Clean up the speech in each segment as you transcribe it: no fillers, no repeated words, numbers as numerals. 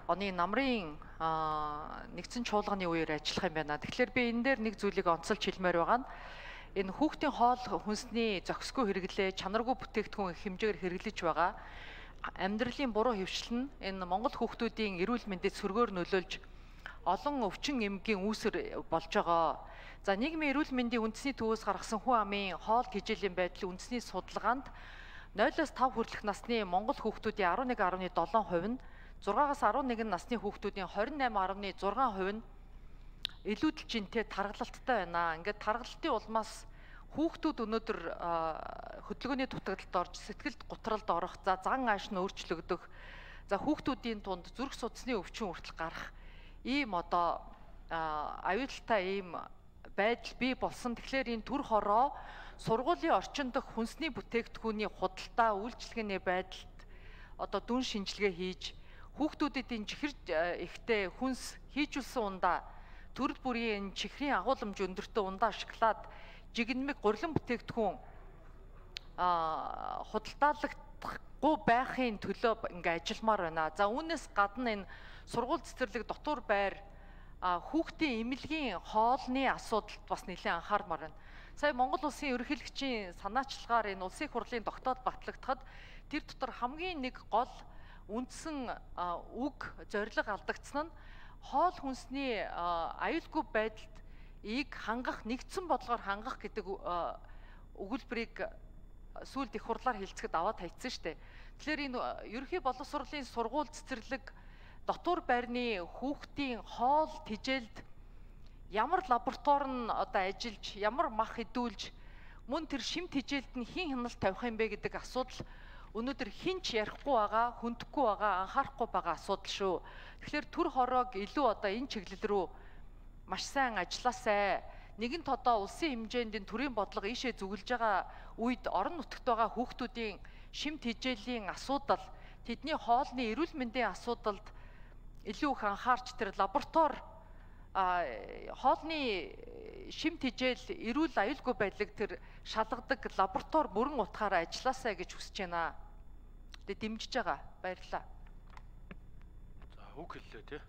оны намрын нэгдсэн чуулганы үеэр ажиллах юм байна. Тэгэхээр би энэ дээр нэг зүйлийг онцолж хэлмээр байгаа нь энэ хүүхдийн хоол хүнсний зохисгүй хэрэглээ, чанаргүй бүтээгдэхүүн хэмжээгээр хэрэглэж байгаа амьдралын буруу хэвшил нь энэ Монгол хүүхдүүдийн эрүүл мэндэд сөргөөр нөлөөлж олон өвчин эмгийн үүсэр болж байгаа. За нийгмийн эрүүл мэндийн үндэсний төвөөс гаргасан хүн амын хоол тэжээлийн байдлын үндэсний судалгаанд 0-5 хүртэлх насны Монгол хүүхдүүдийн 11.7% нь 6-аас 11 насны хүүхдүүдийн 28.6% нь илүүдэл жинтэй таргалалттай байна. Ингээд таргалтын улмаас хүүхдүүд өнөөдөр хөдөлгөөний дутагдлалд орж сэтгэлд гутралд орох, за зан ааш нь өөрчлөгдөх, за хүүхдүүдийн тунд зүрх судасны өвчин хүртэл гарах ийм одоо аюултай ийм байдал бий болсон. Тэгэхээр энэ төр хороо сургуулийн орчин дах хүнсний бүтээгдэхүүний худалдаа үйлчилгээний байдалд одоо дүн шинжилгээ хийж хүүхдүүдэд энэ чихэр ихтэй хүнс хийжүүлсэн ундаа төрөл бүрийн чихрийн агуулмж өндөртөө ундаа шоколад жигнэмэг гурилан бүтээгдэхүүн худалдаалагдахгүй байхын төлөө ингээ ажилламаар байна. За үүнээс гадна энэ сургууль цэцэрлэг дотор байр хүүхдийн эмнэлгийн хоолны асуудалд бас нэлээд анхаармаар байна. Сая Монгол улсын ерөнхийлөгчийн санаачлагаар энэ улсын их хурлын тогтоод батлагдахад тэр дотор хамгийн нэг гол үндсэн үг зорилго алдагдсан нь хоол хүнсний аюулгүй байдалд хангах, нэгдсэн бодлогоор хангах гэдэг өгүүлбэрийг сүүлд их хурлаар хэлцэхэд аваад хайцсан шүү дээ. Тэгэхээр энэ ерөнхий боловсролын сургууль цэцэрлэг дотор байрны хүүхдийн хоол тэжээлд ямар лаборатори нь одоо ажиллаж, ямар мах идүүлж, мөн тэр шим тэжээлд нь хэн хяналт тавих юм бэ гэдэг асуудал өнөөдөр хинч ярихгүй байгаа, хүндэхгүй байгаа, анхаарахгүй байгаа асуудал шүү. Тэгэхээр төр хороог илүү одоо энэ чиглэл рүү маш сайн ажилласай. Нэгэнт одоо улсын хэмжээнд энэ төрийн бодлого ийшээ зүгэлж байгаа үед орон нутагт байгаа хүүхдүүдийн шим тэжээлийн асуудал, тэдний хоолны эрүүл мэндийн асуудалд илүү их анхаарч тэр лаборатори хоолны шим тэжээл эрүүл аюулгүй байдлыг тэр шалгадаг лаборатори бүрэн утгаараа ажилласай гэж хүсэж байна. Тэгээ дэмжиж байгаа. Баярлалаа. За үг хэллээ тий.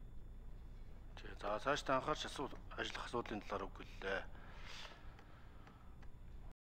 За цааш та анхаарч ажиллах асуудлын талаар үг хэллээ.